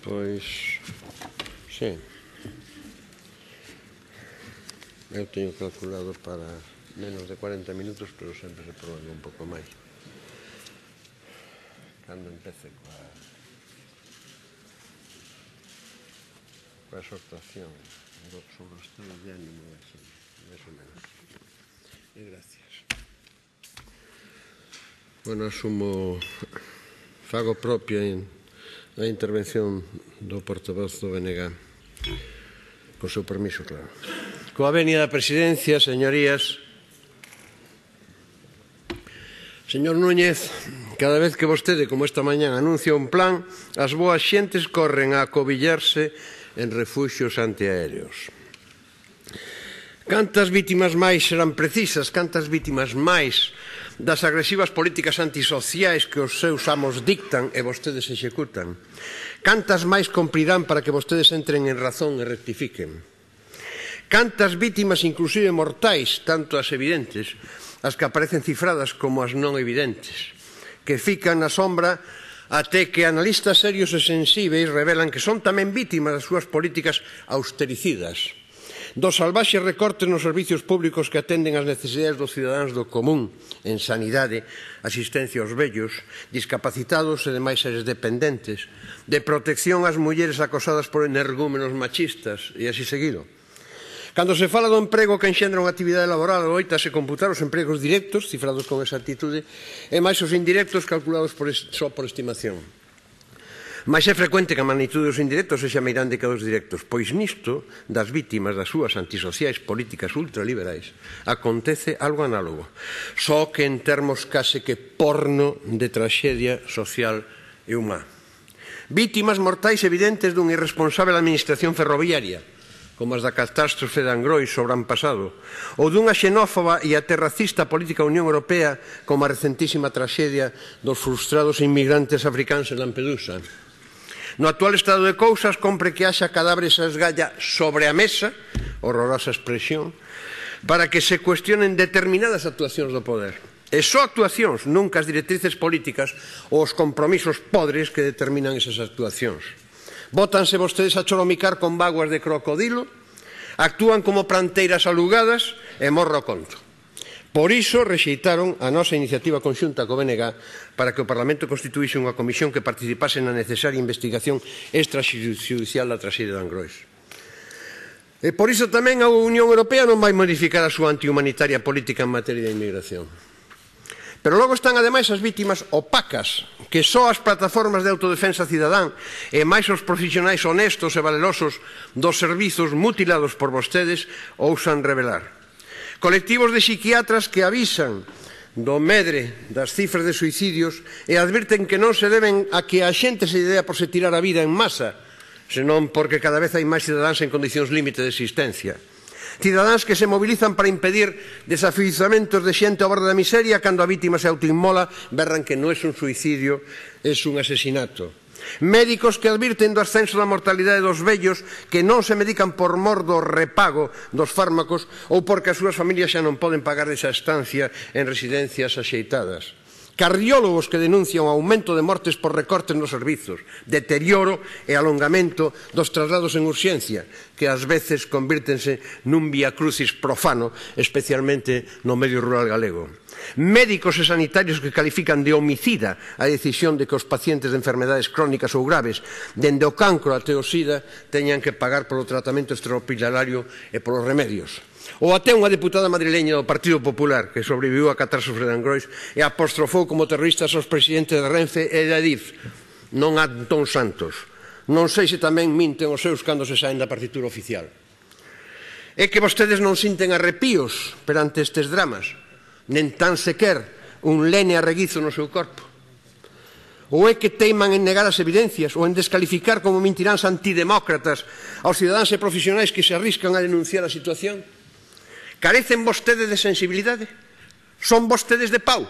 Pois, sí. Eu teño calculado para menos de 40 minutos, pero sempre se prolonga un pouco máis. Cando empece coa exhortación sobre o estado de ánimo, máis ou menos. E gracias. Bueno, asumo, fago propia a intervención do portavoz do BNG. Con seu permiso, claro. Coa venia da Presidencia, señorías, señor Núñez, cada vez que vostede, como esta mañá, anuncia un plan, as boas xentes corren a acobillarse en refuxios antiaéreos. Cantas vítimas máis serán precisas, cantas vítimas máis das agresivas políticas antisociais que os seus amos dictan e vostedes executan? Cantas máis cumprirán para que vostedes entren en razón e rectifiquen? Cantas vítimas, inclusive mortais, tanto as evidentes, as que aparecen cifradas como as non evidentes, que fican na sombra até que analistas serios e sensíveis revelan que son tamén vítimas das súas políticas austericidas, dos salvaxes recortes nos servicios públicos que atenden as necesidades dos cidadáns do común, en sanidade, asistencia aos vellos, discapacitados e demais seres dependentes, de protección ás mulleres acosadas por energúmenos machistas, e así seguido. Cando se fala do emprego que enxendra unha actividade laboral, oítase computar os empregos directos, cifrados con exactitude, e máis os indirectos calculados só por estimación. Mais é frecuente que a magnitude dos indirectos sexa meirande que a dos directos, pois nisto das vítimas das súas antisociais políticas ultraliberais acontece algo análogo, só que en termos case que porno de traxedia social e humá. Vítimas mortais evidentes dunha irresponsable administración ferroviaria, como as da catástrofe de Angrois sobre ano pasado, ou dunha xenófoba e até racista política da Unión Europea como a recentísima traxedia dos frustrados inmigrantes africanos en Lampedusa. No actual estado de cousas, compre que haxa cadáveres a esgalla sobre a mesa, horrorosa expresión, para que se cuestionen determinadas actuacións do poder. E só actuacións, nunca as directrices políticas ou os compromisos podres que determinan esas actuacións. Bótanse vostedes a choromicar con vaguas de crocodilo, actúan como planteiras alugadas e morre o conto. Por iso rexeitaron a nosa iniciativa conxunta co BNG para que o Parlamento constituíse unha comisión que participase na necesaria investigación extrajudicial da traxedia de Angrois. E por iso tamén a Unión Europea non vai modificar a súa antihumanitaria política en materia de inmigración. Pero logo están ademais as vítimas opacas, que só as plataformas de autodefensa cidadán e máis os profesionais honestos e valerosos dos servizos mutilados por vostedes ousan revelar. Colectivos de psiquiatras que avisan do medre das cifras de suicidios e advirten que non se deben a que a xente se idea por se tirar a vida en masa, senón porque cada vez hai máis cidadáns en condicións límite de existencia. Cidadáns que se mobilizan para impedir desafiuzamentos de xente ao borde da miseria cando a vítima se autoinmola, berran que non é un suicidio, é un asesinato. Médicos que advirten do ascenso da mortalidade dos vellos que non se medican por mor do repago dos fármacos ou porque as súas familias xa non poden pagar esa estancia en residencias axeitadas. Cardiólogos que denuncian o aumento de mortes por recortes nos servizos, deterioro e alongamento dos traslados en urxencia, que ás veces convírtense nun viacrucis profano, especialmente no medio rural galego. Médicos e sanitarios que califican de homicida a decisión de que os pacientes de enfermedades crónicas ou graves, dende o cancro até o sida, teñan que pagar polo tratamento extrahospitalario e polos remedios. Ou até unha deputada madrileña do Partido Popular que sobreviviu a catástrofe de Angrois e apostrofou como terroristas aos presidentes de Renfe e de Adif, non a Antón Santos. Non sei se tamén minten os seus cando se saen da partitura oficial. É que vostedes non sinten arrepíos perante estes dramas, nen tan sequer un lene arreguizo no seu corpo. Ou é que teiman en negar as evidencias ou en descalificar como mentiráns antidemócratas aos cidadáns e profesionais que se arriscan a denunciar a situación? Carecen vostedes de sensibilidade? Son vostedes de pau?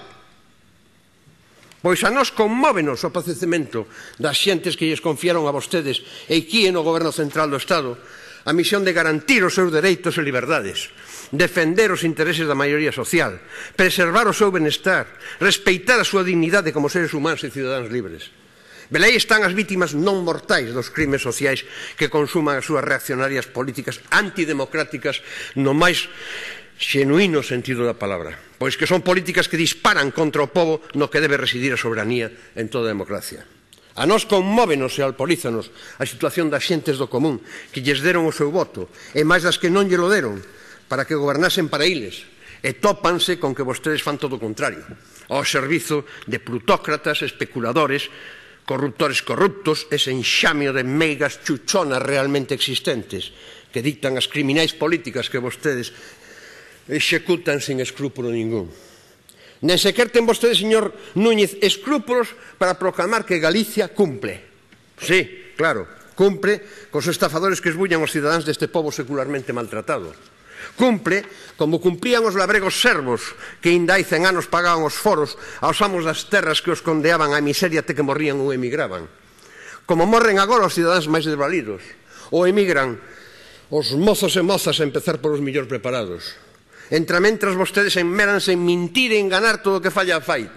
Pois a nós conmóvenos o padecemento das xentes que lles confiaron a vostedes e aquí no Goberno Central do Estado a misión de garantir os seus dereitos e liberdades, defender os intereses da maioría social, preservar o seu benestar, respeitar a súa dignidade como seres humanos e cidadáns libres. Velaí están as vítimas non mortais dos crimes sociais que consuman as súas reaccionarias políticas antidemocráticas no máis xenuíno sentido da palabra, pois que son políticas que disparan contra o pobo no que debe residir a soberanía en toda a democracia. A nós conmóvenos e alporízanos a situación das xentes do común que lles deron o seu voto e máis das que non lle lo deron para que gobernasen para iles e tópanse con que vostedes fan todo o contrario, ao servizo de plutócratas, especuladores, corruptores corruptos, ese enxamio de meigas chuchonas realmente existentes que dictan as criminais políticas que vostedes executan sin escrúpulo ningún. Nen sequer ten vostedes, señor Núñez, escrúpulos para proclamar que Galicia cumple. Sí, claro, cumpre cos estafadores que esbullan os cidadáns deste pobo secularmente maltratado. Cumpre como cumplían os labregos servos que inda hai 100 anos pagaban os foros aos amos das terras que os condeaban á miseria até que morrían ou emigraban. Como morren agora os cidadáns máis desvalidos ou emigran os mozos e mozas a empezar polos millor preparados. Entrementras vostedes enméranse en mentir e enganar todo o que falla a fai.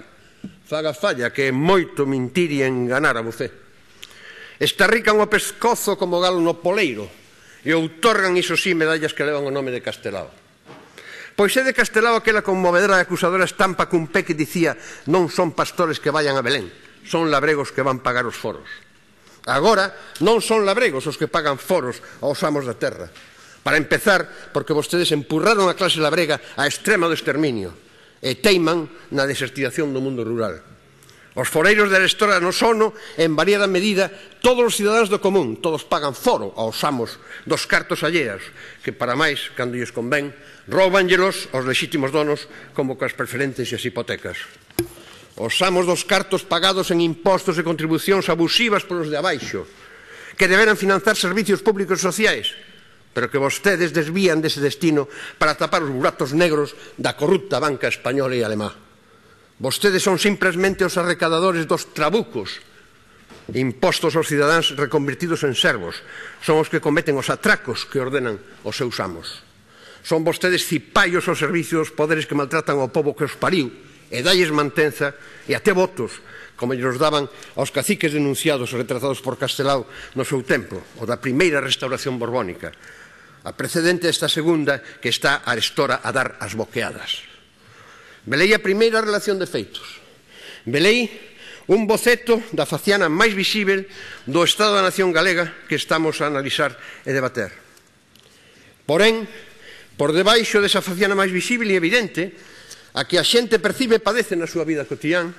Faga falla, que é moito mentir e enganar a você. Estarrican o pescozo como galo no poleiro e outorgan, iso sí, medallas que levan o nome de Castelao. Pois é de Castelao aquela conmovedora e acusadora estampa cun pé que dicía non son pastores que vayan a Belén, son labregos que van pagar os foros. Agora non son labregos os que pagan foros aos amos da terra. Para empezar, porque vostedes empurraron a clase labrega a extrema do exterminio e teiman na desertización do mundo rural. Os foreiros de Arestora no sono, en variada medida, todos os cidadáns do común, todos pagan foro aos amos dos cartos alleas, que para máis, cando lles convén, roubanllelos aos lexítimos donos como coas preferentes e as hipotecas. Os amos dos cartos pagados en impostos e contribucións abusivas polos de abaixo, que deberan financiar servicios públicos e sociais, pero que vostedes desvían dese destino para tapar os buratos negros da corrupta banca española e alemá. Vostedes son simplesmente os arrecadadores dos trabucos impostos aos cidadáns reconvertidos en servos. Son os que cometen os atracos que ordenan os seus amos. Son vostedes cipallos ao servicio dos poderes que maltratan ao pobo que os pariu e dalles mantenza e até votos, como lles daban aos caciques denunciados e retratados por Castelao no seu tempo, o da primeira restauración borbónica, a precedente desta segunda que está Arestora a dar as boqueadas. Velei a primeira relación de feitos. Velei un boceto da faciana máis visível do Estado da Nación Galega que estamos a analizar e debater. Porén, por debaixo desa faciana máis visível e evidente, a que a xente percibe e padece na súa vida cotidián,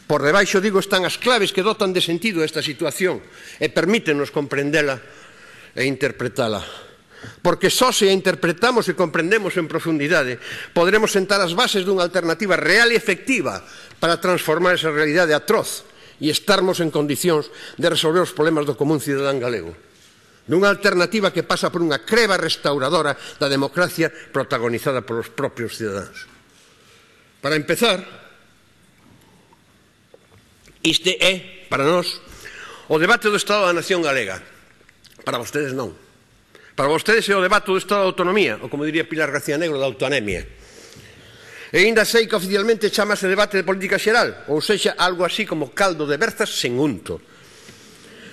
por debaixo, digo, están as claves que dotan de sentido esta situación e permítenos comprendela e interpretala. Porque só se a interpretamos e comprendemos en profundidade poderemos sentar as bases dunha alternativa real e efectiva para transformar esa realidade atroz e estarmos en condicións de resolver os problemas do común cidadán galego. Dunha alternativa que pasa por unha creba restauradora da democracia protagonizada polos propios cidadáns. Para empezar, este é, para nós, o debate do Estado da Nación Galega. Para vostedes non. Para vostedes é o debate do Estado de Autonomía, ou como diría Pilar García Negro, da autoanemia. E ainda sei que oficialmente chamase debate de política xeral, ou sexa, algo así como caldo de berzas sen unto.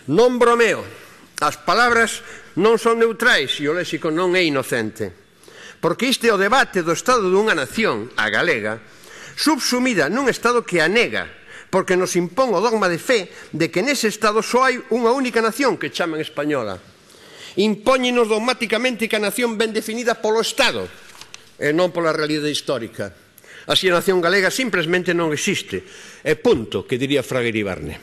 Non bromeo, as palabras non son neutrais e o léxico non é inocente. Porque este é o debate do Estado dunha nación, a galega, subsumida nun Estado que a nega, porque nos impón o dogma de fe de que nese Estado só hai unha única nación que chaman española. Impóñenos dogmáticamente que a nación ben definida polo Estado e non pola realidade histórica. Así a nación galega simplesmente non existe. E punto, que diría Fraga Iribarne.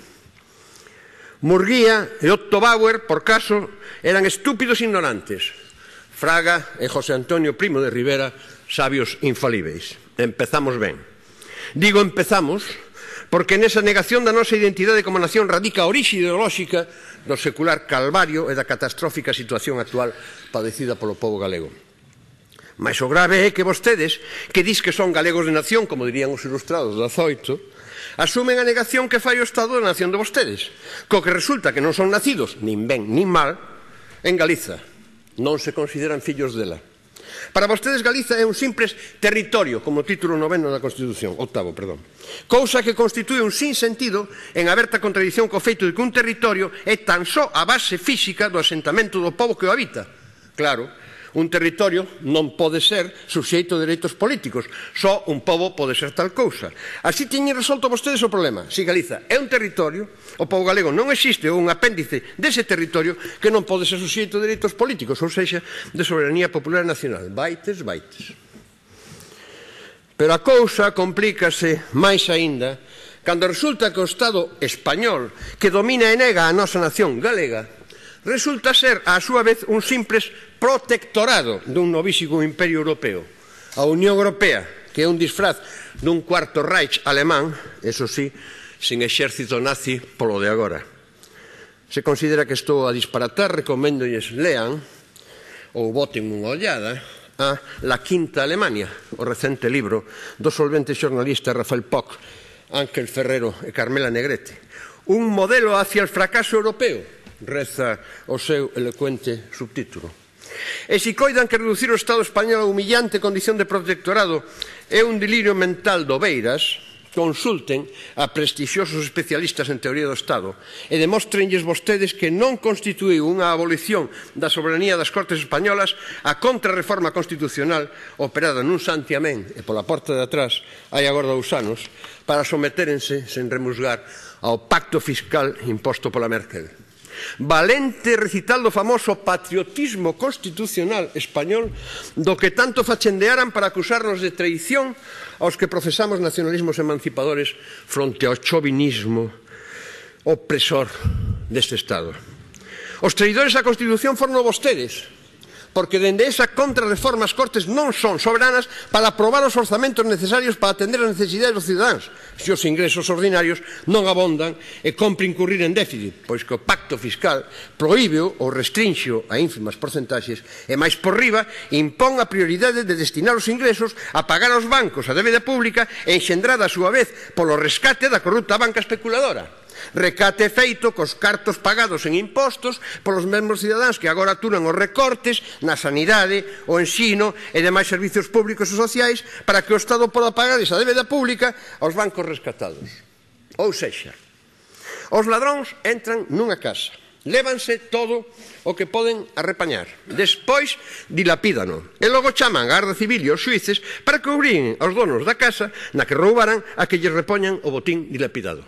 Murguía e Otto Bauer, por caso, eran estúpidos ignorantes. Fraga e José Antonio Primo de Rivera, sabios infalíveis. Empezamos ben. Digo empezamos porque nesa negación da nosa identidade como nación radica a orixe ideolóxica do secular calvario e da catastrófica situación actual padecida polo pobo galego. Mais o grave é que vostedes, que dis que son galegos de nación, como dirían os ilustrados do 18, asumen a negación que fai o Estado da nación de vostedes, co que resulta que non son nacidos, nin ben nin mal, en Galiza. Non se consideran fillos dela. Para vostedes Galiza é un simples territorio, como título 9º da Constitución, octavo, perdón. Cousa que constitúe un sinsentido en aberta contradición co feito de que un territorio é tan só a base física do asentamento do pobo que o habita. Claro, un territorio non pode ser suxeito de dereitos políticos, só un pobo pode ser tal cousa. Así teñen resolto vostedes o problema. Si Galiza é un territorio, o pobo galego non existe un apéndice dese territorio que non pode ser suxeito de dereitos políticos, ou sexa, de soberanía popular nacional. Vaites. Pero a cousa complícase máis aínda cando resulta que o Estado español, que domina e nega a nosa nación galega, resulta ser, á súa vez, un simples protectorado dun novísimo imperio europeo. A Unión Europea, que é un disfraz dun cuarto Reich alemán, eso sí, sin exército nazi polo de agora. Se considera que estou a disparatar, recoméndolles lean ou boten unha ollada a La Quinta Alemania, o recente libro do solvente xornalista Rafael Poch, Ángel Ferrero e Carmela Negrete. Un modelo hacia el fracaso europeo, reza o seu elocuente subtítulo. E se coidan que reducir o Estado español a humillante condición de protectorado é un delirio mental do Beiras, consulten a prestixiosos especialistas en teoría do Estado e demóstrenlles vostedes que non constituíu unha abolición da soberanía das Cortes españolas a contrarreforma constitucional operada nun santiamén e pola porta de atrás hai agora 2 anos para sometérense sen remusgar ao pacto fiscal imposto pola Merkel. Valente recital do famoso patriotismo constitucional español do que tanto fachendearan para acusarnos de traición aos que profesamos nacionalismos emancipadores fronte ao chauvinismo opresor deste Estado. Os traidores á Constitución foron vostedes, porque dende esa contrarreforma as Cortes non son soberanas para aprobar os orzamentos necesarios para atender as necesidades dos cidadáns, se os ingresos ordinarios non abondan e compre incurrir en déficit, pois que o pacto fiscal prohíbeo ou restrinxo a ínfimas porcentaxes e máis por riba impón a prioridade de destinar os ingresos a pagar aos bancos a débeda pública e enxendrada a súa vez polo rescate da corrupta banca especuladora. Recate feito cos cartos pagados en impostos polos mesmos cidadáns que agora aturan os recortes na sanidade, o ensino e demais servizos públicos e sociais para que o Estado poda pagar esa débeda pública aos bancos rescatados. Ou sexa, os ladróns entran nunha casa, lévanse todo o que poden arrepañar, despois dilapídano e logo chaman a Garda Civil e os xuíces para que obriguen aos donos da casa na que roubaran a que lles repoñan o botín dilapidado.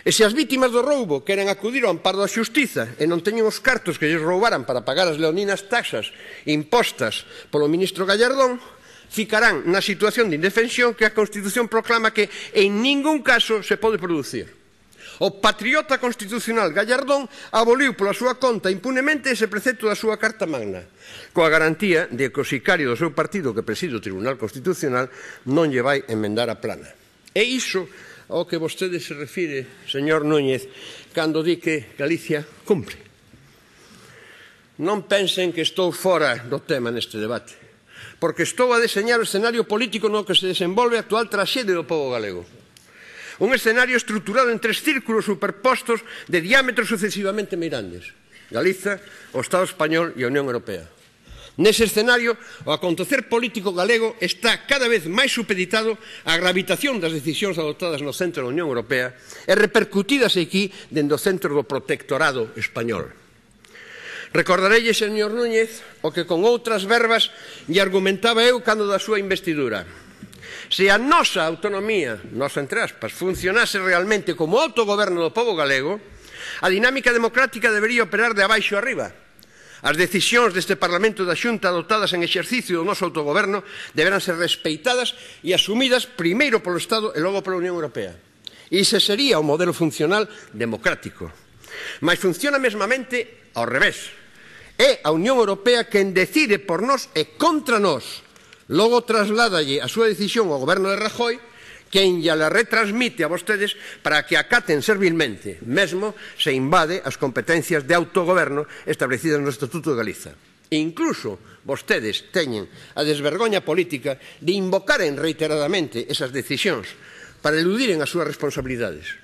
E se as vítimas do roubo queren acudir ao amparo da xustiza e non teñen os cartos que lles roubaran para pagar as leoninas taxas impostas polo ministro Gallardón, ficarán na situación de indefensión que a Constitución proclama que en ningún caso se pode producir. O patriota constitucional Gallardón aboliu pola súa conta impunemente ese precepto da súa Carta Magna, coa garantía de que o sicario do seu partido que preside o Tribunal Constitucional non lle vai emendar a plana. E iso ao que vostede se refire, señor Núñez, cando di que Galicia cumpre. Non pensen que estou fora do tema neste debate, porque estou a deseñar o escenario político no que se desenvolve a actual traxede do pobo galego. Un escenario estruturado en 3 círculos superpostos de diámetros sucesivamente meirandes: Galiza, o Estado español e a Unión Europea. Nese escenario, o acontecer político galego está cada vez máis supeditado á gravitación das decisións adoptadas no centro da Unión Europea e repercutidas aquí dende o centro do protectorado español. Recordarelle, señor Núñez, o que con outras verbas lle argumentaba eu cando da súa investidura. Se a nosa autonomía, nosa entre aspas, funcionase realmente como autogoberno do pobo galego, a dinámica democrática debería operar de abaixo a arriba. As decisións deste Parlamento da Xunta adoptadas en exercicio do noso autogoberno deberán ser respeitadas e asumidas primeiro polo Estado e logo pola Unión Europea. Ese sería o modelo funcional democrático. Mas funciona mesmamente ao revés. É a Unión Europea quen decide por nós e contra nós. Logo trasládalle a súa decisión ao goberno de Rajoy, quen lla la retransmite a vostedes para que acaten servilmente, mesmo se invade as competencias de autogoberno establecidas no Estatuto de Galiza. E incluso vostedes teñen a desvergoña política de invocaren reiteradamente esas decisións para eludiren as súas responsabilidades.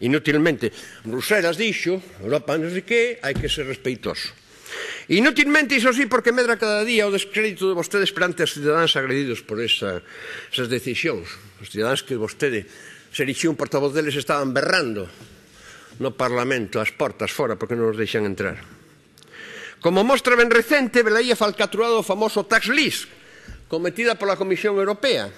Inútilmente, Bruselas dixo, Europa non sei que, hai que ser respeitoso. Inútilmente, iso sí, porque medra cada día o descrédito de vostedes perante os cidadáns agredidos por esas decisións. Os cidadáns que vostede se erixiu un portavoz deles estaban berrando no Parlamento, ás portas fora, porque non os deixan entrar. Como mostra ben recente, velaía falcatrurado o famoso tax list, cometida pola Comisión Europea.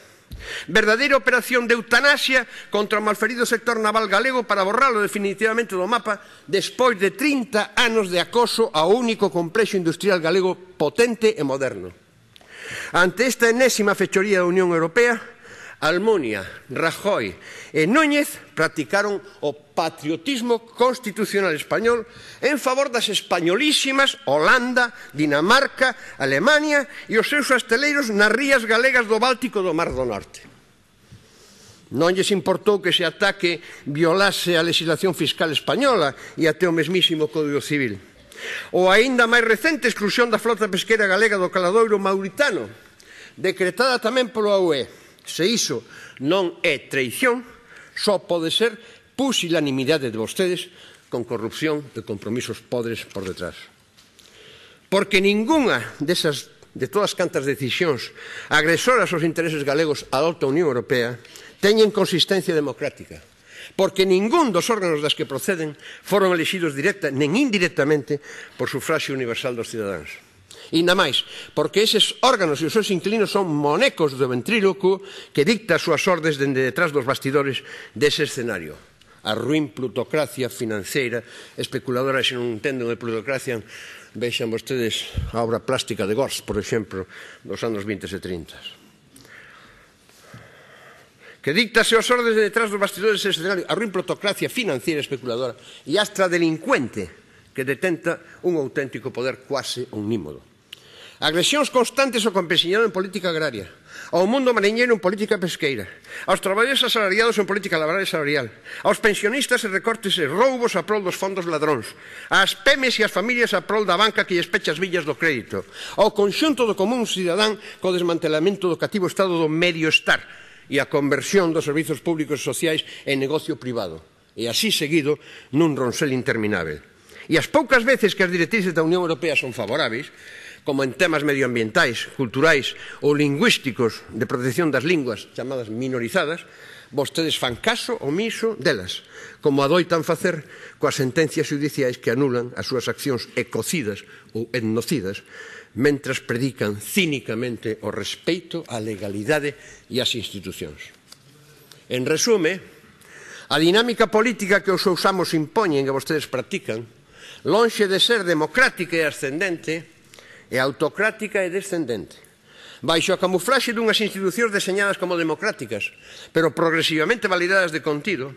Verdadeira operación de eutanasia contra o malferido sector naval galego para borralo definitivamente do mapa despois de 30 anos de acoso ao único complexo industrial galego potente e moderno. Ante esta enésima fechoría da Unión Europea, Almunia, Rajoy e Núñez practicaron o patriotismo constitucional español en favor das españolísimas Holanda, Dinamarca, Alemania e os seus asteleiros nas rías galegas do Báltico do Mar do Norte. Non lles importou que ese ataque violase a legislación fiscal española e até o mesmísimo Código Civil. Ou aínda máis recente exclusión da flota pesqueira galega do caladoiro mauritano, decretada tamén pola UE. Se iso non é traición, só pode ser pusilanimidade de vostedes con corrupción e compromisos podres por detrás. Porque ningunha de todas cantas decisións agresoras aos intereses galegos adopta a Unión Europea teñen consistencia democrática. Porque ningún dos órganos das que proceden foron elixidos directa nen indirectamente por sufraxio universal dos cidadáns. Inda máis, porque eses órganos e os seus inquilinos son monecos do ventríloco que dicta as súas ordes dende detrás dos bastidores dese escenario. A ruín plutocracia financeira, especuladora, se non entenden de plutocracia, vexan vostedes a obra plástica de Gortz, por exemplo, dos anos 20 e 30. Que dictase as ordes de detrás dos bastidores dese escenario, a ruín plutocracia financeira, especuladora e astra delincuente que detenta un auténtico poder cuase omnímodo. Agresións constantes ao campesinado en política agraria, ao mundo mariñeiro en política pesqueira, aos traballadores asalariados en política laboral e salarial, aos pensionistas e recortes e roubos a prol dos fondos ladróns, ás pemes e ás familias a prol da banca que lles pecha as villas do crédito, ao conxunto do común cidadán co desmantelamento do cativo estado do medio-estar e a conversión dos servizos públicos e sociais en negocio privado, e así seguido nun ronsel interminável. E as poucas veces que as directrices da Unión Europea son favoráveis, como en temas medioambientais, culturais ou lingüísticos de protección das linguas chamadas minorizadas, vostedes fan caso omiso delas, como adoitan facer coas sentencias judiciais que anulan as súas accións ecocidas ou etnocidas, mentras predican cínicamente o respeito á legalidade e ás institucións. En resume, a dinámica política que os seus amos impoñen e vostedes practican, lonxe de ser democrática e ascendente, é autocrática e descendente. Baixo a camuflaxe dunhas institucións deseñadas como democráticas, pero progresivamente validadas de contido,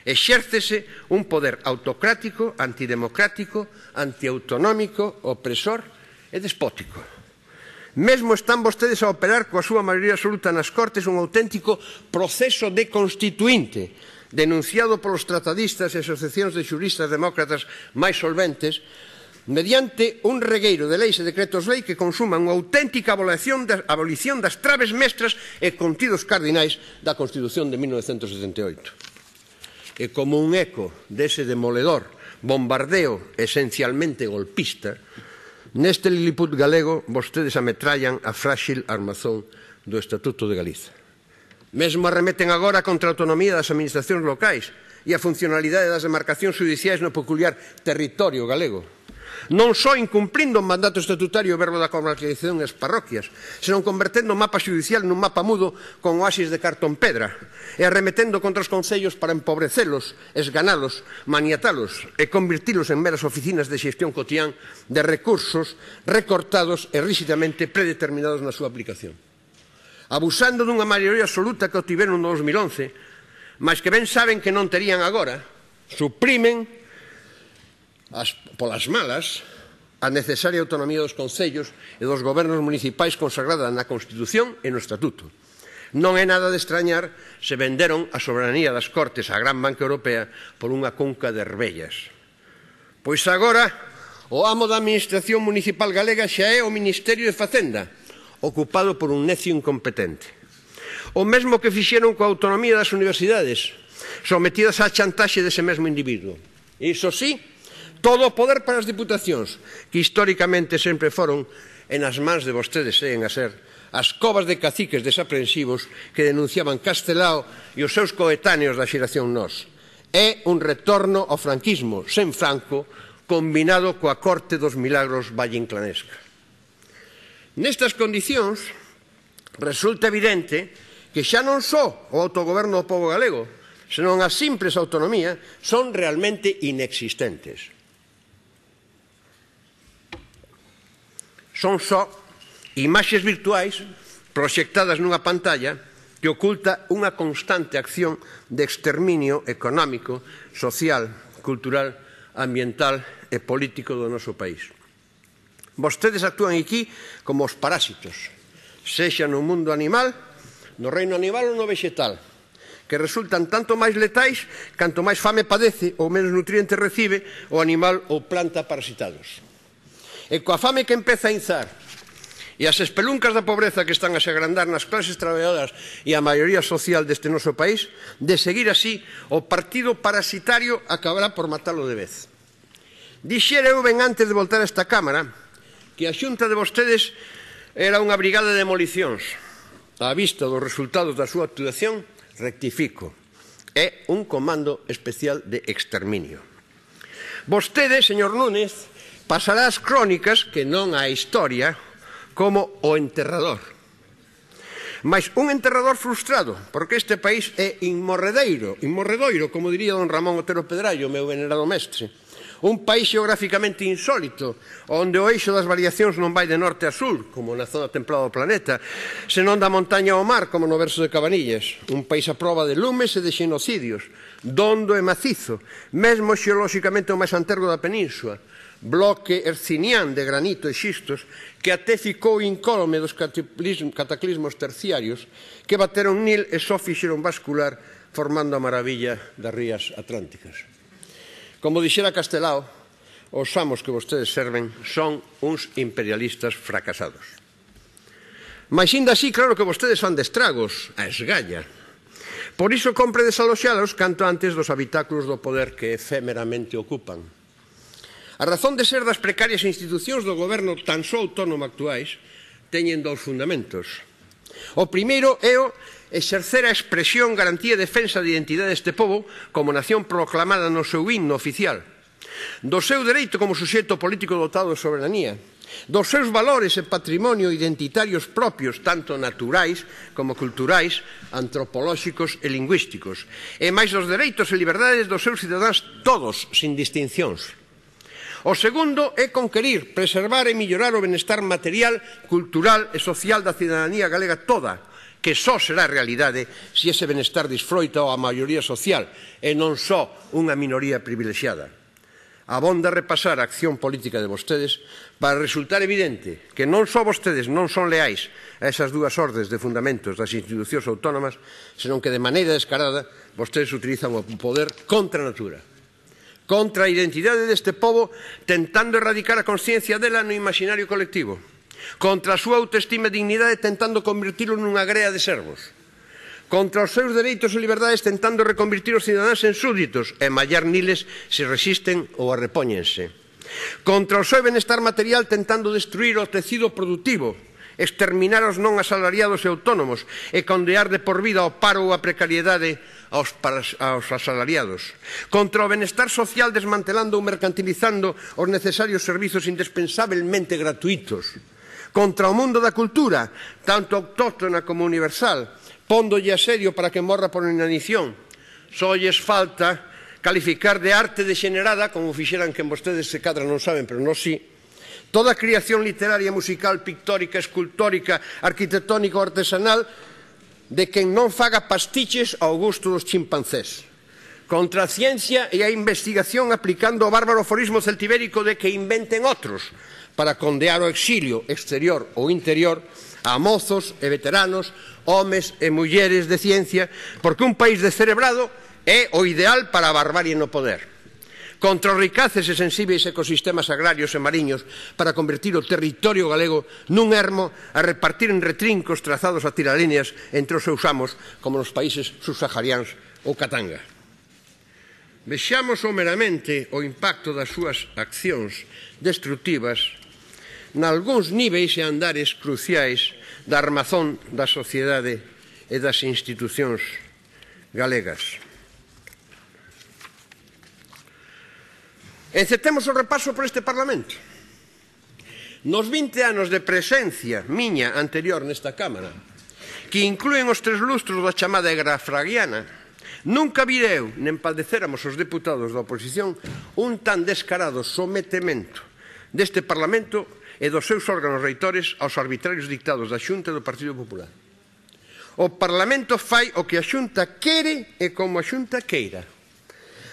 exércese un poder autocrático, antidemocrático, antiautonómico, opresor e despótico. Mesmo están vostedes a operar coa súa maioría absoluta nas Cortes un auténtico proceso deconstituinte, denunciado polos tratadistas e asociacións de xuristas demócratas máis solventes, mediante un regueiro de leis e decretos-lei que consuman unha auténtica abolición das traves mestras e contidos cardinais da Constitución de 1978. E como un eco dese demoledor bombardeo esencialmente golpista, neste Liliput galego vostedes ametrallan a frágil armazón do Estatuto de Galiza. Mesmo arremeten agora contra a autonomía das administracións locais e a funcionalidade das demarcacións judiciais no peculiar territorio galego. Non só incumplindo o mandato estatutario o verbo da comarcalización das parroquias, senón convertendo o mapa judicial nun mapa mudo con oasis de cartón pedra e arremetendo contra os concellos para empobrecelos, esganalos, maniatalos e convertilos en meras oficinas de xestión cotián de recursos recortados e ríxidamente predeterminados na súa aplicación. Abusando dunha maioría absoluta que obtiveron no 2011, mas que ben saben que non terían agora, suprimen polas malas a necesaria autonomía dos concellos e dos gobernos municipais consagrada na Constitución e no Estatuto. Non é nada de extrañar se venderon a soberanía das Cortes á gran banca europea por unha cunca de herbellas. Pois agora o amo da administración municipal galega xa é o Ministerio de Facenda, ocupado por un necio incompetente. O mesmo que fixeron coa autonomía das universidades, sometidas á chantaxe dese mesmo individuo. Iso sí, Todo o poder para as diputacións, que históricamente sempre foron en as mans de vostedes, seguen a ser as covas de caciques desaprensivos que denunciaban Castelao e os seus coetáneos da xeración Nós. É un retorno ao franquismo sen Franco, combinado coa corte dos milagros valleinclanesca. Nestas condicións, resulta evidente que xa non só o autogoberno do pobo galego, senón a simples autonomía, son realmente inexistentes. Son só imaxes virtuais proxectadas nunha pantalla que oculta unha constante acción de exterminio económico, social, cultural, ambiental e político do noso país. Vostedes actúan aquí como os parásitos, sexa no mundo animal, no reino animal ou no vegetal, que resultan tanto máis letais canto máis fame padece ou menos nutrientes recibe o animal ou planta parasitados. E coa fame que empeza a inzar e as espeluncas da pobreza que están a se agrandar nas clases traballadoras e a maioría social deste noso país, de seguir así, o partido parasitario acabará por matalo de vez. Dixera eu ben antes de voltar a esta Cámara que a xunta de vostedes era unha brigada de demolicións. A vista dos resultados da súa actuación, rectifico, é un comando especial de exterminio. Vostede, señor Núñez, pasará as crónicas, que non a historia, como o enterrador. Mais un enterrador frustrado, porque este país é inmorredoiro, como diría don Ramón Otero Pedrallo, meu venerado mestre. Un país xeográficamente insólito, onde o eixo das variacións non vai de norte a sur, como na zona templada do planeta, senón da montaña ao mar, como no verso de Cabanillas. Un país a proba de lumes e de xenocidios, dondo e macizo, mesmo xeolóxicamente o máis antergo da península, bloque hercinián de granito e xistos que até ficou incólume dos cataclismos terciarios que bateron nil e só fixeron bascular formando a maravilla das rías atlánticas. Como dixera Castelao, os amos que vostedes serven son uns imperialistas fracasados. Mais inda así, claro que vostedes fan de estragos, a esgalla. Por iso compre desaloxalos canto antes dos habitáculos do poder que efémeramente ocupan. A razón de ser das precarias institucións do goberno tan só autónomo actuais teñen dous fundamentos. O primeiro é o exercer a expresión, garantía e defensa de identidade deste pobo como nación proclamada no seu himno oficial, do seu dereito como suxeito político dotado de soberanía, dos seus valores e patrimonio identitarios propios, tanto naturais como culturais, antropolóxicos e lingüísticos, e máis dos dereitos e liberdades dos seus cidadáns todos, sin distincións. O segundo é conquerir, preservar e mellorar o benestar material, cultural e social da cidadanía galega toda, que só será realidade se ese benestar disfroita a maioría social e non só unha minoría privilexiada. Abonda repasar a acción política de vostedes para resultar evidente que non só vostedes non son leais a esas dúas ordes de fundamentos das institucións autónomas, senón que de maneira descarada vostedes utilizan o poder contra a natura, contra a identidade deste pobo, tentando erradicar a consciencia dela no imaginario colectivo, contra a súa autoestima e dignidade tentando convertilo nunha grea de servos, contra os seus dereitos e liberdades tentando reconvertir os cidadáns en súditos e mallar niles se resisten ou arrepóñense, contra o seu benestar material tentando destruir o tecido productivo, exterminar os non asalariados e autónomos e condear de por vida ao paro ou a precariedade aos asalariados, contra o benestar social desmantelando ou mercantilizando os necesarios servizos indispensablemente gratuitos, contra o mundo da cultura, tanto autóctona como universal, póndolle asedio para que morra por inanición. Só lles falta calificar de arte degenerada, como fixeran que vostedes se cadra non saben, pero non si, toda a creación literaria, musical, pictórica, escultórica, arquitectónica ou artesanal de quen non faga pastiches ao gusto dos chimpancés. Contra a ciencia e a investigación aplicando o bárbaro aforismo celtibérico de que inventen outros, para condear o exilio exterior ou interior a mozos e veteranos, homes e mulleres de ciencia, porque un país descerebrado é o ideal para a barbarie no poder. Contra os ricaces e sensíveis ecosistemas agrarios e mariños para convertir o territorio galego nun ermo a repartir en retrincos trazados a tiralíneas entre os seus amos como nos países subsaharianos ou Katanga. Vexamos someramente o impacto das súas accións destructivas nalgúns niveis e andares cruciais da armazón da sociedade e das institucións galegas. Encetemos o repaso por este Parlamento. Nos 20 anos de presencia miña anterior nesta Cámara, que inclúen os 3 lustros da chamada era fraguiana, nunca vireu, nen padecéramos os deputados da oposición, un tan descarado sometemento deste Parlamento e dos seus órganos reitores aos arbitrarios dictados da Xunta do Partido Popular. O Parlamento fai o que a Xunta quere e como a Xunta queira.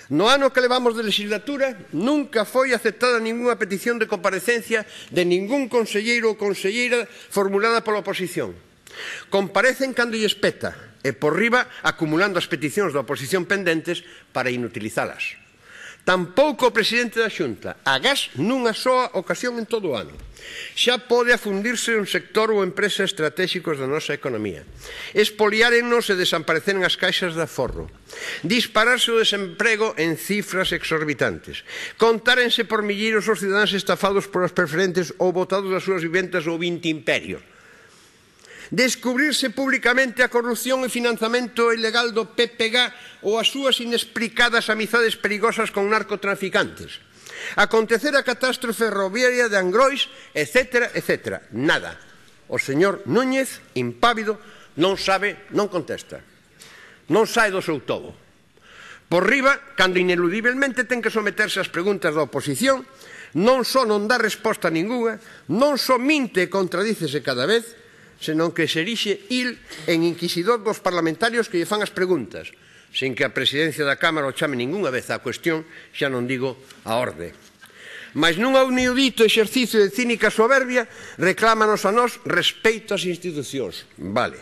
No ano que levamos de legislatura, nunca foi aceptada ningunha petición de comparecencia de ningún conselleiro ou conselleira formulada pola oposición. Comparecen cando lles peta e por riba acumulando as peticións da oposición pendentes para inutilizalas. Tampouco o presidente da Xunta, agás nunha soa ocasión en todo o ano. Xa pode afundirse un sector ou empresa estratégicos da nosa economía. Espoliárennos e desapareceren as caixas de aforro. Dispararse o desemprego en cifras exorbitantes. Contárense por milleiros os cidadáns estafados por as preferentes ou botados das súas vivendas ao 20 imperio. Descubrirse públicamente a corrupción e financiamento ilegal do PPG ou as súas inexplicadas amizades perigosas con narcotraficantes. Acontecer a catástrofe ferroviaria de Angrois, etc., etc. Nada. O señor Núñez, impávido, non sabe, non contesta. Non sae do seu tobo. Por riba, cando ineludiblemente ten que someterse ás preguntas da oposición, non só non dá resposta ningunha, non só minte e contradícese cada vez, senón que se erixe il en inquisidor dos parlamentarios que lle fan as preguntas, sin que a presidencia da Cámara o chame ningunha vez á cuestión, xa non digo a orde. Mas nun inaudito exercicio de cínica soberbia, reclámanos a nós respeito ás institucións. Vale.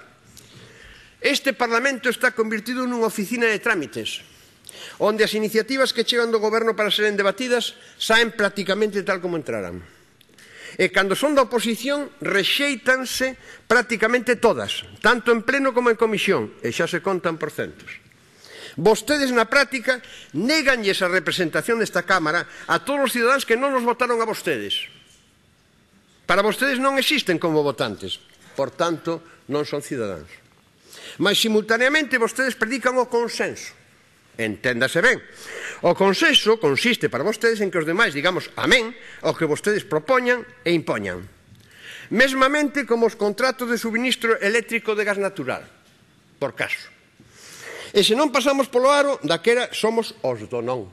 Este Parlamento está convertido nunha oficina de trámites, onde as iniciativas que chegan do Goberno para seren debatidas saen prácticamente tal como entraran. E cando son da oposición, rexéitanse prácticamente todas, tanto en pleno como en comisión, e xa se contan por centos. Vostedes, na práctica, néganlles a representación desta Cámara a todos os cidadáns que non nos votaron a vostedes. Para vostedes non existen como votantes, por tanto, non son cidadáns. Mas, simultaneamente, vostedes predican o consenso. Enténdase ben. O consenso consiste para vostedes en que os demais digamos amén ao que vostedes propoñan e impoñan. Mesmamente como os contratos de suministro eléctrico de gas natural, por caso. E se non pasamos polo aro, daquera somos os do non.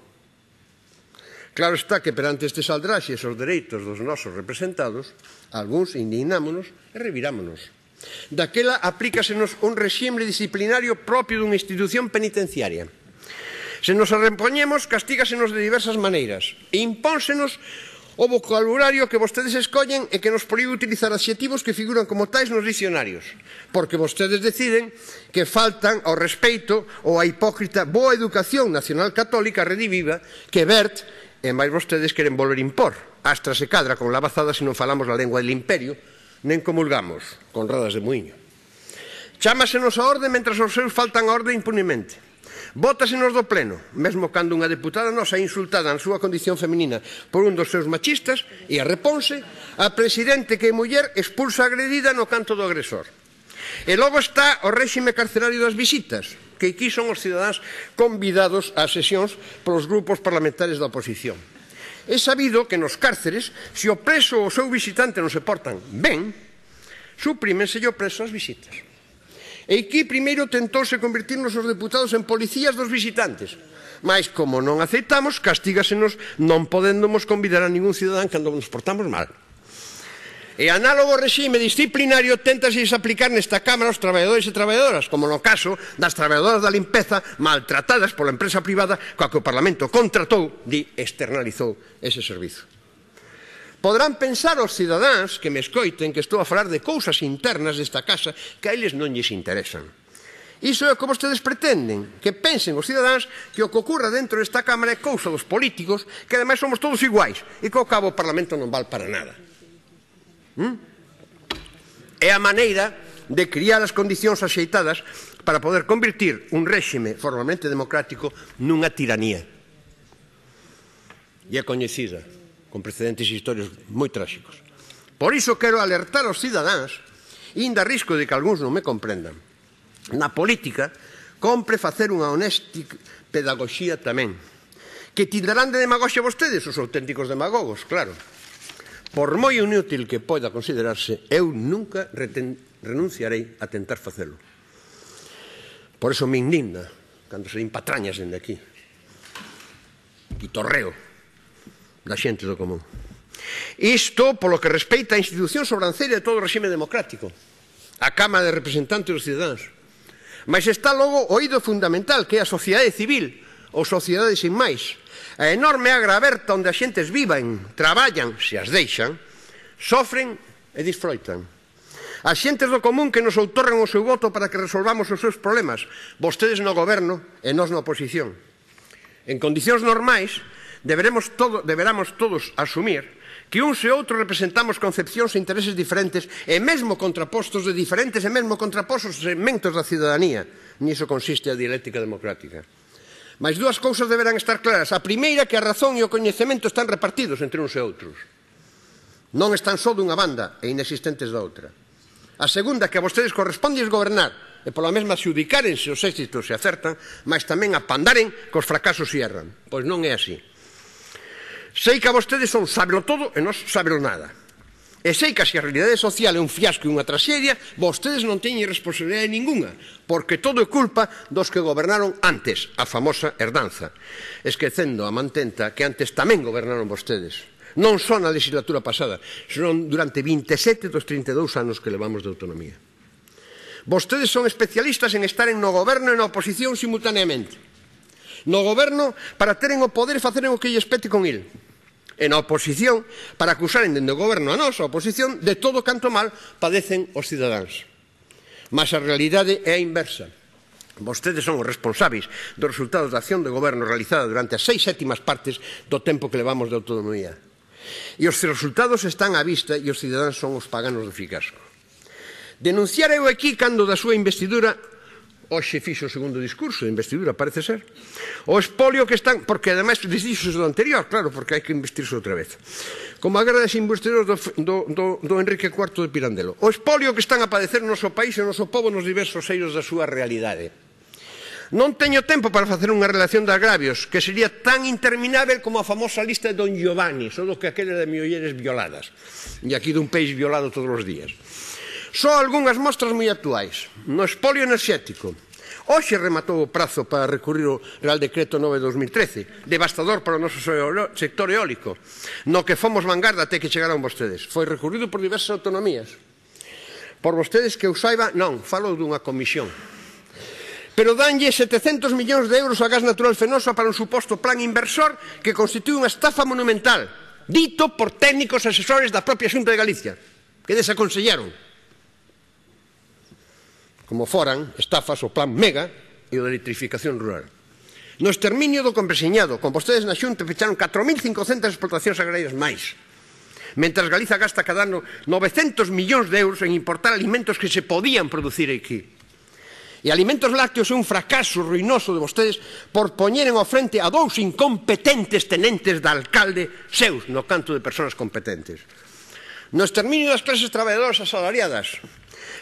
Claro está que perante estes aldraxes os dereitos dos nosos representados, algúns indignámonos e revirámonos. Daquela aplícasenos un réxime disciplinario propio dunha institución penitenciaria. Se nos arrepoñemos, castígasenos de diversas maneiras e impónsenos o vocabulario que vostedes escollen e que nos proíbe utilizar adxetivos que figuran como tais nos dicionarios, porque vostedes deciden que faltan ao respeito ou á hipócrita boa educación nacional católica rediviva que Bert e máis vostedes queren volver impor. Astra se cadra con lavazada se non falamos a lengua del imperio, nen comulgamos con rodas de muiño. Chámasenos a orde mentras os seus faltan a orde impunemente. Bótasenos do pleno, mesmo cando unha deputada nosa é insultada na súa condición feminina por un dos seus machistas e arreponse, a presidente que é muller expulsa a agredida no canto do agresor. E logo está o réxime carcerario das visitas, que aquí son os cidadáns convidados ás sesións polos grupos parlamentarios da oposición. É sabido que nos cárceres, se o preso ou o seu visitante non se portan ben, suprímense o preso as visitas. E aquí primeiro tentouse convertirnos os deputados en policías dos visitantes, mas como non aceitamos, castígasenos non podéndonos convidar a ningún cidadán cando nos portamos mal. E análogo réxime disciplinario téntase aplicar nesta Cámara aos traballadores e traballadoras, como no caso das traballadoras da limpeza maltratadas pola empresa privada coa que o Parlamento contratou e externalizou ese servizo. Poderán pensar os cidadáns que me escoiten que estou a falar de cousas internas desta casa que a eles non lles interesan. Iso é o que vostedes pretenden, que pensen os cidadáns que o que ocurra dentro desta Cámara é cousa dos políticos, que ademais somos todos iguais, e que ao cabo o Parlamento non vale para nada. É a maneira de criar as condicións axeitadas para poder convertir un réxime formalmente democrático nunha tiranía. e é coñecida, con precedentes históricos moi tráxicos. Por iso quero alertar aos cidadáns, e inda risco de que algúns non me comprendan. Na política, compre facer unha honesta pedagogía tamén. Que tildarán de demagoxia vostedes, os auténticos demagogos, claro. Por moi inútil que poida considerarse, eu nunca renunciarei a tentar facelo. Por eso me indigna cando se empatrañas dende aquí. E torreo da xente do común. Isto polo que respeita a institución sobranceira de todo o regime democrático, a Cámara de Representantes dos Cidadáns. Mas está logo o eido fundamental, que é a sociedade civil, ou sociedade sin máis. A enorme agra aberta onde as xentes vivan, traballan, se as deixan, sofren e disfroitan. As xentes do común que nos outorgan o seu voto para que resolvamos os seus problemas, vostedes no goberno e nós na oposición. En condicións normais, deberamos todos asumir que uns e outros representamos concepcións e intereses diferentes e mesmo contrapostos de diferentes e mesmo contrapostos segmentos da cidadanía. Niso consiste a dialéctica democrática. Mas dúas cousas deberán estar claras. A primeira, que a razón e o coñecemento están repartidos entre uns e outros. Non están só dunha banda e inexistentes da outra. A segunda, que a vostedes corresponde gobernar e pola mesma xudicárense os éxitos se acertan, mas tamén apandaren que os fracasos se erran. Pois non é así. Sei que a vostedes son sábelo todo e nós sábelo nada. E sei que se a realidade social é un fiasco e unha traxedia, vostedes non teñen responsabilidade ninguna, porque todo é culpa dos que gobernaron antes, a famosa herdanza, esquecendo a mantenta que antes tamén gobernaron vostedes. Non só na legislatura pasada, senón durante 27 dos 32 anos que levamos de autonomía. Vostedes son especialistas en estaren no goberno e na oposición simultaneamente. No goberno para teren o poder e faceren o que lles pete con il. E na oposición para acusaren dende o goberno a nós, a oposición, de todo canto mal padecen os cidadáns. Mas a realidade é a inversa. Vostedes son os responsáveis dos resultados da acción de goberno realizada durante as 6/7 partes do tempo que levamos de autonomía. E os resultados están á vista e os cidadáns son os paganos do ficasco. Denunciar eu aquí cando da súa investidura, hoxe fixo o segundo discurso de investidura, parece ser, o espolio que están, porque ademais dixo do anterior, claro, porque hai que investirse outra vez, como a guerra das investiduras do Enrique IV de Pirandello, o espolio que están a padecer o noso país e o noso pobo nos diversos eiros da súa realidade. Non teño tempo para facer unha relación de agravios que sería tan interminável como a famosa lista de Don Giovanni, só do que aquele de mulleres violadas, e aquí dun país violado todos os días. Só algunhas mostras moi actuais. No espolio enerxético, hoxe rematou o prazo para recurrir o Real Decreto 9/2013, devastador para o noso sector eólico, no que fomos vanguarda até que chegaron vostedes. Foi recurrido por diversas autonomías. Por vostedes que eu saiba, non, falo dunha comisión. Pero danlle 700 millóns de euros a Gas Natural Fenosa para un suposto plan inversor que constitúe unha estafa monumental, dito por técnicos asesores da propia Xunta de Galicia, que desaconsellaron. Como foran estafas o plan Mega e o de electrificación rural. No exterminio do campesinado, con vostedes na Xunta fecharon 4.500 explotacións agrarias máis, mentras Galiza gasta cada ano 900 millóns de euros en importar alimentos que se podían producir aquí. E Alimentos Lácteos é un fracaso ruinoso de vostedes por poñeren ao frente a dous incompetentes tenentes de alcalde seus no canto de persoas competentes. No exterminio das clases traballadoras asalariadas,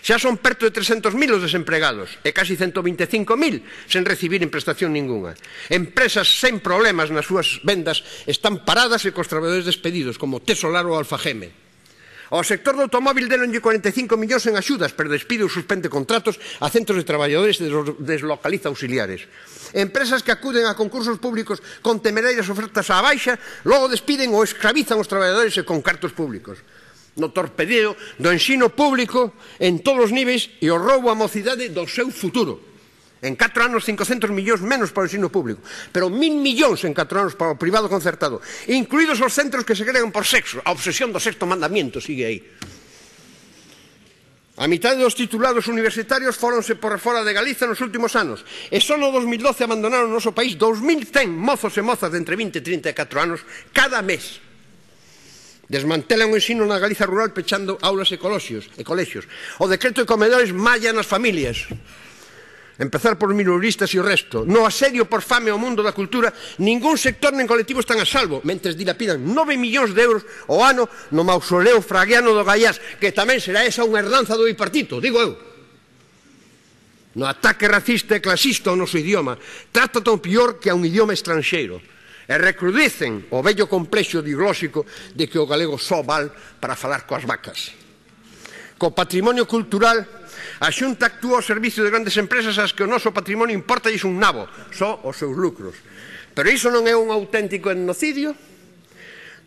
xa son perto de 300.000 os desempregados e casi 125.000 sen recibir prestación ninguna. Empresas sen problemas nas súas vendas están paradas e cos traballadores despedidos, como Tesolar ou Alfageme. Ao sector do automóbil deronlle 45 millóns en axudas, pero despide ou suspende contratos a centros de traballadores e deslocaliza auxiliares. Empresas que acuden a concursos públicos con temerarias ofertas á baixa, logo despiden ou escravizan os traballadores e con cartos públicos. No torpedeo do ensino público en todos os niveis e o roubo á mocidade do seu futuro. En 4 anos 500 millóns menos para o ensino público, pero 1.000 millóns en 4 anos para o privado concertado, incluídos os centros que se crean por sexo. A obsesión do sexto mandamiento sigue aí. A mitad dos titulados universitarios fóronse por fora de Galiza nos últimos anos e só no 2012 abandonaron o noso país 2.100 mozos e mozas de entre 20 e 34 anos cada mes. Desmantelan o ensino na Galiza rural pechando aulas e colexios. O decreto de comedores malla nas familias. empezar por minoristas e o resto. No asedio por fame ao mundo da cultura, ningún sector nen colectivo están a salvo, mentres dilapidan 9 millóns de euros ao ano no mausoleo fraguiano do Gaiás, que tamén será esa unha herdanza do bipartito, digo eu. No ataque racista e clasista ao noso idioma, trata tan pior que a un idioma estranxeiro, e recrudecen o vello complexo diglóxico de que o galego só val para falar coas vacas. Co patrimonio cultural, a Xunta actúa ao servicio de grandes empresas ás que o noso patrimonio importalles un nabo, só os seus lucros. Pero iso non é un auténtico etnocidio?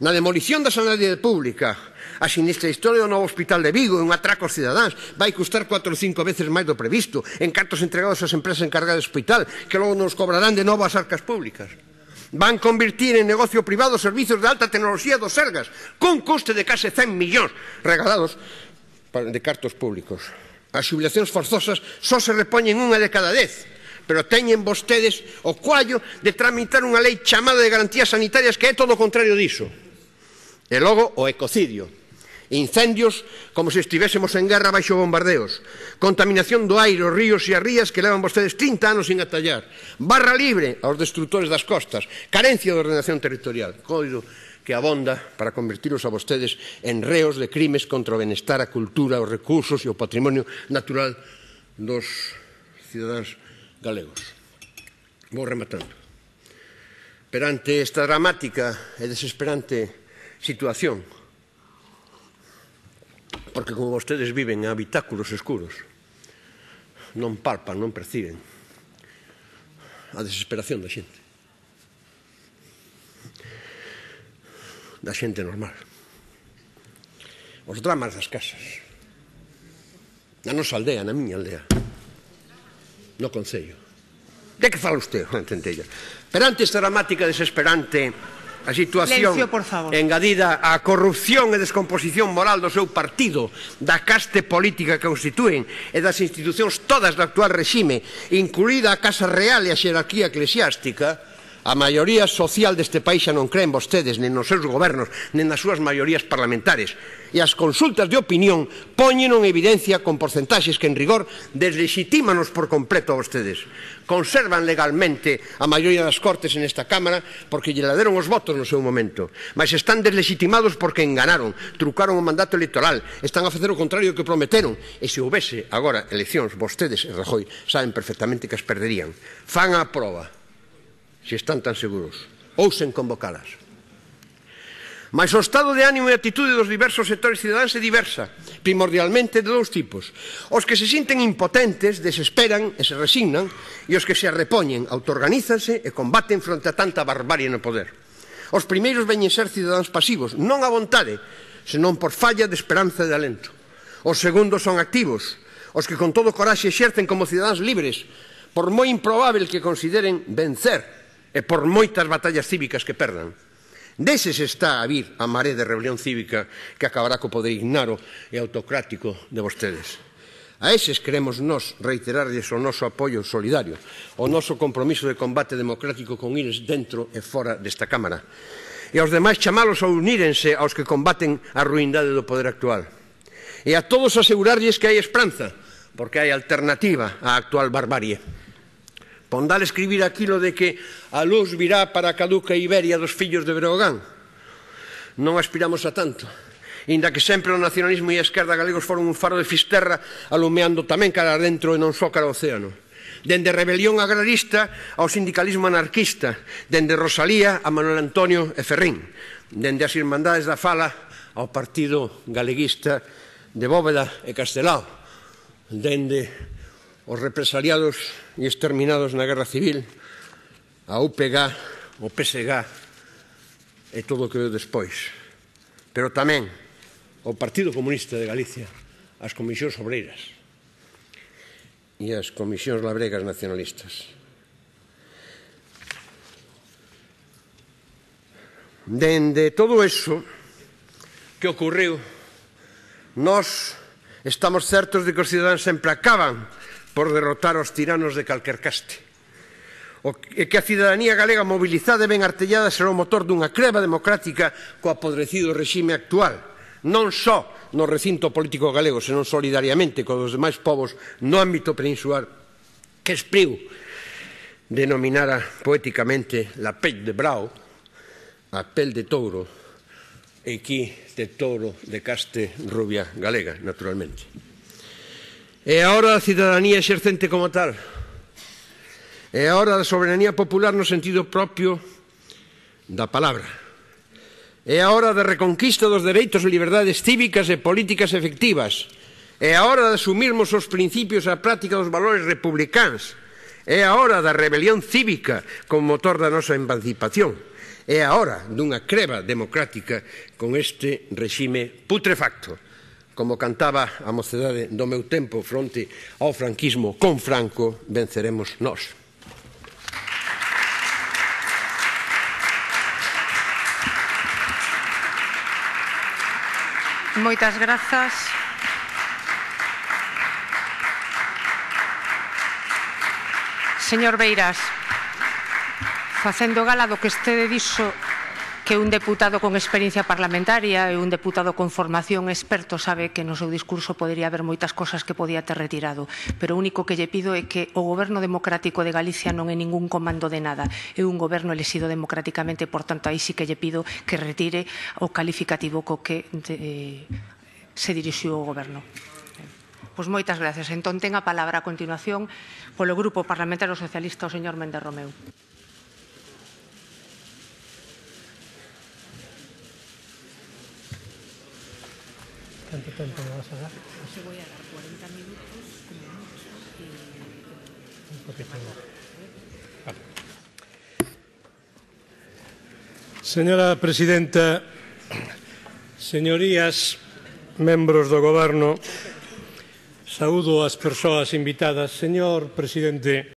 Na demolición da sanidade pública, a sinistra historia do novo hospital de Vigo e un atraco aos cidadáns vai custar 4 ou 5 veces máis do previsto en cartos entregados ás empresas encargadas do hospital, que logo nos cobrarán de novo as arcas públicas. Van convertir en negocio privado servizos de alta tecnoloxía do Sergas, cun custe de case 100 millóns regalados de cartos públicos. As xubilacións forzosas só se repoñen unha de cada 10, pero teñen vostedes o coallo de tramitar unha lei chamada de garantías sanitarias que é todo o contrario diso. E logo o ecocidio. Incendios como se estivésemos en guerra baixo bombardeos. Contaminación do aire, os ríos e as rías que levan vostedes 30 anos sin atallar. Barra libre aos destrutores das costas. Carencia de ordenación territorial. Coido que abonda para convertiros a vostedes en reos de crimes contra o benestar, a cultura, os recursos e o patrimonio natural dos cidadáns galegos. Vou rematando. Perante esta dramática e desesperante situación, porque como vostedes viven en habitáculos escuros, non palpan, non perciben a desesperación da xente. Da xente normal. Os dramas das casas. Na nosa aldea, na miña aldea. No concello. De que fala usted, Centella? Perante esta dramática desesperante, a situación engadida á corrupción e descomposición moral do seu partido, da caste política que constituen e das institucións todas do actual regime, incluída a Casa Real e a xerarquía eclesiástica, a maioría social deste país xa non creen vostedes nen nos seus gobernos, nen nas súas maiorías parlamentarias. E as consultas de opinión poñen en evidencia con porcentaxes que en rigor deslegitímanos por completo a vostedes. Conservan legalmente a maioría das cortes en esta Cámara porque lle la deron os votos no seu momento, mas están deslegitimados porque enganaron, trucaron o mandato electoral, están a facer o contrario do que prometeron, e se houbese agora eleccións, vostedes e Rajoy saben perfectamente que as perderían. Fan a proba, se están tan seguros, ousen convocalas. Mas o estado de ánimo e atitude dos diversos sectores cidadáns é diversa, primordialmente de dous tipos. Os que se sinten impotentes, desesperan e se resignan, e os que se arrepoñen, autoorganízanse e combaten fronte a tanta barbarie no poder. Os primeiros veñen ser cidadáns pasivos, non a vontade, senón por falla de esperanza e de alento. Os segundos son activos, os que con todo coraxe exercen como cidadáns libres, por moi improbável que consideren vencer, e por moitas batallas cívicas que perdan. Deses está a vir a maré de rebelión cívica que acabará co poder ignaro e autocrático de vostedes. A eses queremos nós reiterarlles o noso apoio solidario, o noso compromiso de combate democrático con eles dentro e fora desta Cámara. E aos demais chamalos a unírense aos que combaten a ruindade do poder actual. E a todos asegurarlles que hai esperanza, porque hai alternativa á actual barbarie. Pondal escribir aquilo de que a luz virá para a caduca Iberia dos fillos de Breogán. Non aspiramos a tanto, inda que sempre o nacionalismo e a esquerda galegos foron un faro de Fisterra alumeando tamén cara adentro e non só cara ao océano. Dende a rebelión agrarista ao sindicalismo anarquista, dende Rosalía a Manuel Antonio e Ferrín, dende as Irmandades da Fala ao Partido Galeguista de Bóveda e Castelao, dende os represaliados e exterminados na Guerra Civil, a UPG, o PSG e todo o que veio despois. Pero tamén o Partido Comunista de Galicia, as comisións obreiras e as comisións labregas nacionalistas. Dende todo eso que ocorreu, nós estamos certos de que os cidadáns sempre acaban por derrotar os tiranos de calquer caste. E que a cidadanía galega mobilizada e ben artellada será o motor dunha creba democrática co apodrecido regime actual, non só no recinto político galego, senón solidariamente con os demais povos no ámbito peninsular que Espriu denominara poéticamente la pell de brau, a pel de touro, e aquí de touro de caste rubia galega, naturalmente. É a hora da cidadanía exercente como tal. É a hora da soberanía popular no sentido propio da palabra. É a hora da reconquista dos dereitos e liberdades cívicas e políticas efectivas. É a hora de asumirmos os principios e a práctica dos valores republicanos. É a hora da rebelión cívica como motor da nosa emancipación. É a hora dunha creba democrática con este regime putrefacto. Como cantaba a mocedade do meu tempo fronte ao franquismo, con Franco venceremos nós. Moitas grazas. Señor Beiras, facendo gala do que estede dixo que un deputado con experiencia parlamentaria e un deputado con formación experto sabe que no seu discurso podería haber moitas cosas que podía ter retirado, pero o único que lle pido é que o Goberno Democrático de Galicia non é ningún comando de nada, é un goberno elixido democráticamente, por tanto, aí sí que lle pido que retire o calificativo co que se dirixiu o Goberno. Pois moitas gracias. Entón, ten a palabra a continuación polo Grupo Parlamentario Socialista o señor Méndez Romeu. ¿Cuánto tiempo me vas a dar? Te voy a dar 40 minutos como mucho y... Un poquito más. Vale. Señora Presidenta, señorías, membros do Goberno, saúdo as persoas invitadas. Señor Presidente,